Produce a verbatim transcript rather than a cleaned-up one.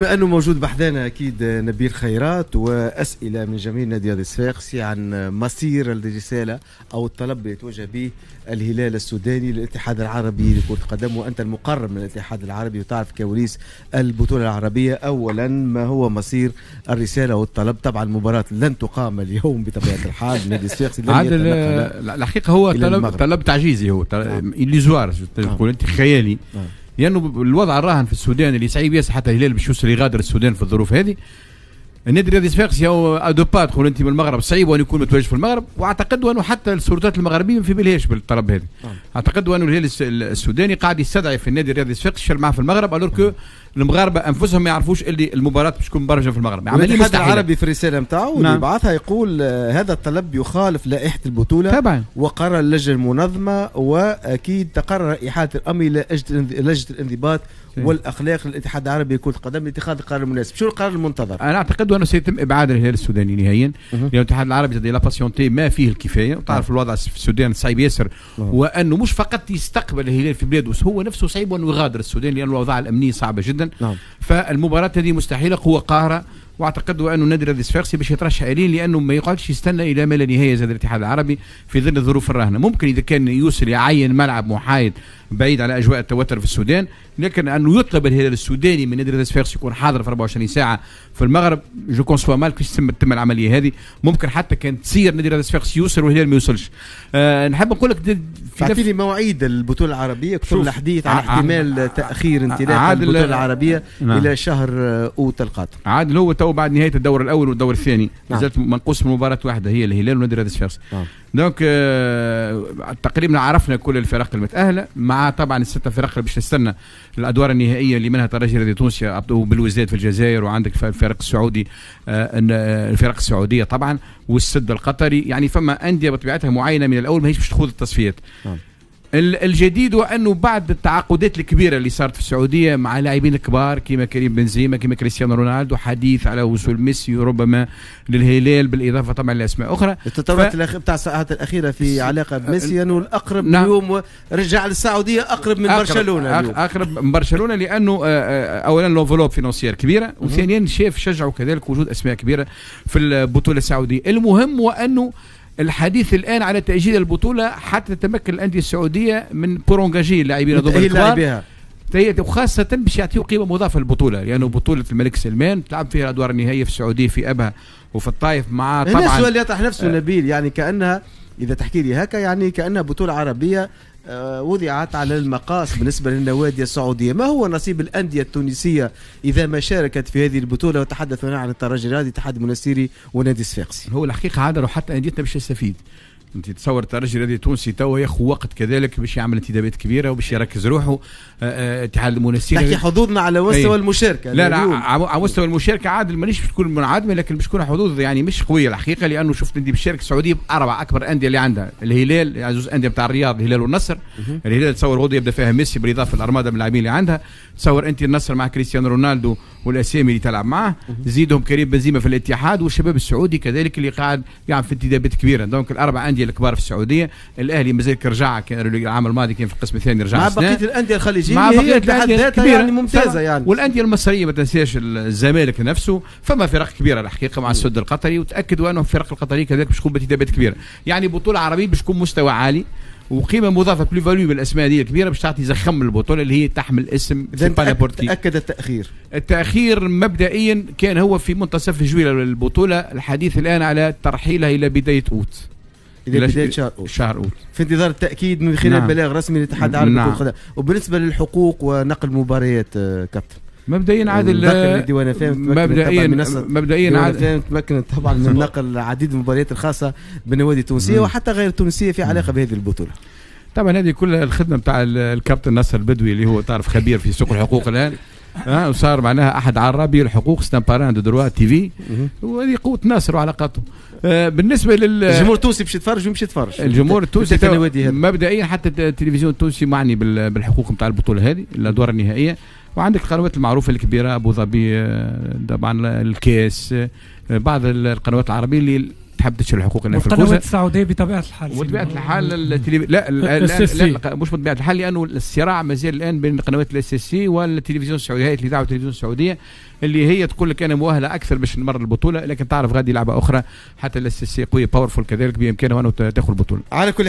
بما انه موجود بحذانا اكيد نبيل خيرات واسئلة من جميع نادي الصفاقسي عن مصير الرسالة او الطلب اللي يتوجه به الهلال السوداني للاتحاد العربي لكرة القدم، وانت المقرب من الاتحاد العربي وتعرف كواليس البطولة العربية. اولا، ما هو مصير الرسالة والطلب؟ طبعا المباراة لن تقام اليوم بطبيعة الحال، نادي الصفاقسي لن عادل، الحقيقة هو طلب طلب تعجيزي، هو illusoire، تقول انت خيالي، نعم. لانه الوضع الراهن في السودان اللي صعيب ياسر حتى الهلال باش يوصل يغادر السودان في الظروف هذه. النادي الرياضي الصفاقسي هو à deux pas تقول انت من المغرب، صعيب ان يكون متواجد في المغرب، واعتقد انه حتى السلطات المغربية ما في بالهاش بالطلب هذا. نعم. اعتقد انه الهلال السوداني قاعد يستدعي في النادي الرياضي الصفاقسي معه في المغرب، alors que المغاربة انفسهم ما يعرفوش اللي المباراة باش تكون مبرمجه في المغرب. عملية الاتحاد العربي في الرسالة نتاعو نعم. اللي بعثها يقول آه، هذا الطلب يخالف لائحة البطولة طبعا وقرار اللجنة المنظمه، واكيد تقرر احالة الامر الى لجنة الانضباط والاخلاق للاتحاد العربي لكرة القدم لاتخاذ القرار المناسب. شو القرار المنتظر؟ انا اعتقد انه سيتم ابعاد الهلال السوداني نهائيا، لان الاتحاد العربي زاد il a patienté ما فيه الكفايه، وتعرف الوضع في السودان صعيب ياسر، وانه مش فقط يستقبل الهلال في بلاده، هو نفسه صعيب انه يغادر السودان لان الاوضاع الامنية صعبة جدا. نعم. فالمباراه هذه مستحيله، قوة قاهره، واعتقد انه النادي الرياضي الصفاقسي باش يترشح اليه لانه ما يقعدش يستنى الى ما لا نهاية زاد الاتحاد العربي في ظل الظروف الراهنه. ممكن اذا كان يوصل يعين ملعب محايد بعيد على اجواء التوتر في السودان، لكن انه يطلب الهلال السوداني من النادي الرياضي الصفاقسي يكون حاضر في أربعة وعشرين ساعة في المغرب، je conçois mal كيفاش تتم تتم العملية هذه. ممكن حتى كان تصير النادي الرياضي الصفاقسي يوصل والهلال ما يوصلش. أه نحب نقول لك تعطيني مواعيد البطولة العربيه، كثر الحديث عن احتمال تاخير انطلاق البطولة العربية نعم. الى شهر اوت القادم. عادل، هو تو بعد نهاية الدور الاول والدور الثاني نعم. مازالت منقوص من مباراة واحده، هي الهلال والنادي الرياضي الصفاقسي. نعم. donc آه تقريبا عرفنا كل الفرق المتاهله، مع طبعا الستة فرق اللي باش تستنى الادوار النهائيه، اللي منها ترجي الرياضي التونسي وبلوزداد في الجزائر، وعندك الفريق السعودي، آه الفرق السعودية طبعا والسد القطري. يعني فما اندية بطبيعتها معينة من الاول ماهيش باش تخوض التصفيات. نعم. الجديد هو انه بعد التعاقدات الكبيرة اللي صارت في السعودية مع لاعبين الكبار كما كريم بنزيما، كما كريستيانو رونالدو، حديث على وصول ميسي ربما للهلال، بالاضافة طبعا لاسماء اخرى. التطورات ف... بتاع الساعات الاخيرة في علاقة بميسي انه الاقرب نعم. اليوم رجع للسعودية اقرب من أقرب برشلونة اليوم. اقرب من برشلونة لانه آه، آه، اولا l'enveloppe financière كبيره، وثانيا شاف شجعوا كذلك وجود اسماء كبيرة في البطولة السعوديه. المهم هو انه الحديث الان على تاجيل البطولة حتى تتمكن الاندية السعودية من pour engager اللاعبين هذوما الكبار، وخاصة باش يعطيو قيمة مضافة للبطولة، لأنه بطولة الملك سلمان تلعب فيها الأدوار النهائية في السعودية في أبها وفي الطائف مع طبعا السؤال يطرح نفسه آه نبيل، يعني كأنها إذا تحكي لي هكا يعني كأنها بطولة عربية آه، وضعت على المقاس بالنسبة للنوادي السعودية. ما هو نصيب الأندية التونسية إذا ما شاركت في هذه البطولة؟ وتحدث هنا عن الترجي الرياضي، اتحاد المنستيري ونادي الصفاقسي. هو الحقيقة عاد حتى أنديتنا باش تستفيد. انت تصور الترجي الرياضي التونسي توا ياخذ وقت كذلك باش يعمل انتدابات كبيرة وباش يركز روحه. آه، آه، اتحاد المنستير تحكي حظوظنا على مستوى المشاركه. لا لا، على مستوى المشاركة عادل مانيش باش تكون منعدمه، لكن باش تكون حظوظ يعني مش قوية الحقيقه، لانه شفت انت بالشارك السعودية باربع اكبر اندية اللي عندها، الهلال، يعني زوز اندية بتاع الرياض، الهلال والنصر. الهلال تصور غدوه يبدا فيها ميسي بالاضافة للارماده من اللاعبين اللي عندها. تصور انت النصر مع كريستيانو رونالدو والاسامي اللي تلعب معاه، زيدهم كريم بنزيما في الاتحاد، والشباب السعودي كذلك اللي قاعد يعمل في انتدابات كبيره. donc الاربع اندية الكبار في السعوديه، الاهلي مازال رجع، كان العام الماضي كان في القسم الثاني رجع. مع بقية الاندية الخليجية مع بقية الاندية يعني ممتازة يعني. والاندية المصرية ما تنساش الزمالك نفسه. فما فرق كبيرة الحقيقة مع السد القطري، وتاكدوا انه الفرق القطرية كذلك باش تكون بانتدابات كبيره. يعني بطوله عربية باش تكون مستوى عالي وقيمه مضافه، plus-value بالاسماء دي الكبيرة باش تعطي زخم البطولة اللي هي تحمل اسم. تاكد التاخير؟ التاخير مبدئيا كان هو في منتصف جويلية البطوله، الحديث الان على ترحيلها الى بداية اوت. الى بداية شهر اوت. شهر اوت. في انتظار التاكيد من خلال نعم. بلاغ رسمي للاتحاد العربي نعم. لكرة القدم. وبالنسبة للحقوق ونقل مباريات آه، كابتن؟ مبدئيا عادل ديوان فهم مبدئيا مبدئيا عادل تمكنت طبعا من نقل العديد من المباريات الخاصة بالنوادي التونسية وحتى غير التونسية في علاقة بهذه البطوله. طبعا هذه كلها الخدمة بتاع الكابتن ناصر البدوي اللي هو تعرف خبير في سوق الحقوق الان، ها وصار معناها احد عرابي الحقوق، c'est un parrain de Droit TV، وهذه قوة ناصر وعلاقاته. آه، بالنسبة لل الجمهور التونسي باش يتفرج ويمشي يتفرج. الجمهور التونسي مبدئيا حتى التلفزيون التونسي معني بالحقوق نتاع البطولة هذه الادوار النهائيه، وعندك القنوات المعروفة الكبيره، ابو ظبي آه، طبعا الكاس، آه، بعض القنوات العربية اللي تحب تشتري الحقوق في القنوات السعودية بطبيعة الحال. وبطبيعة الحال التلف... لا لا, لا, لا مش بطبيعة الحال، لانه الصراع مازال الان بين قنوات ال SSC والتلفزيون السعودي، هيئة الاذاعة والتلفزيون السعودية اللي هي تقول لك انا مؤهلة اكثر باش نمر البطوله، لكن تعرف غادي لعبه اخرى، حتى ال SSC قوية powerful كذلك بامكانه انه تاخذ البطولة. على كل